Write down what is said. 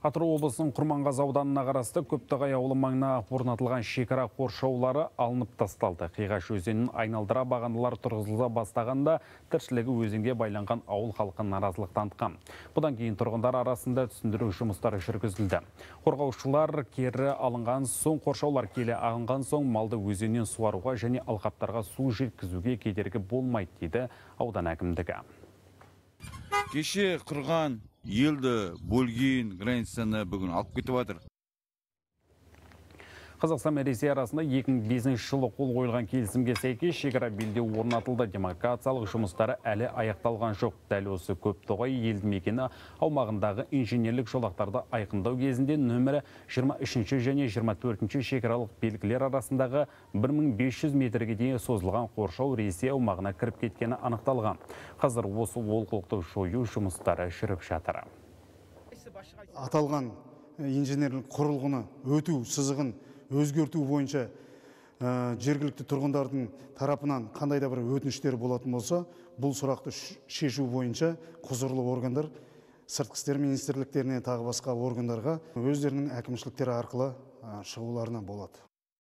Атырау облысының Құрманғазы ауданына қарасты Көптоғай ауылы маңына орнатылған шекара қоршаулары алынып тасталды. Қиғаш өзенін айналдыра бағандылар тұрғызыла бастағанда тіршілігі өзенге байланған ауыл халқы наразылық танытқан. Бұдан кейін тұрғындар арасында түсіндіру жұмыстары жүргізілді. Қорғаушылар кері алынған соң, қоршаулар келе алынған соң малды өзеннен суаруға және алқаптарға су жеткізуге кедергі болмайды дейді аудан әкімдігі. Кеше құрған елді бөлген границаны бүгін алып кетіп жатыр. Қазақстан мен Ресей арасында 2005 жылы қол қойылған келісімге сәйкес шекара белдеу орнатылды. Демаркациялық жұмыстары әлі аяқталған жоқ. Дәл осы Көптоғай елді мекені аумағындағы инженерлік жолақтарды айқындау кезінде нөмірі 23 және 24 шекаралық белгілер арасындағы 1500 метрге дейін созылған қоршау Ресей аумағына кіріп кеткені анықталған. Қазір осы олқылықты жою жұмыстары жүріп жатыр. Аталған инженерлік құрылғыны өту сызығын өзгерту бойынша жергілікті тұрғындардың тарапынан қандай да бір өтініштер болатын болса, бұл сұрақты шешу бойынша құзырлы органдар сыртқы істер министрліктеріне тағы басқа органдарға өздерінің әкімшіліктері арқылы шығуларына болады.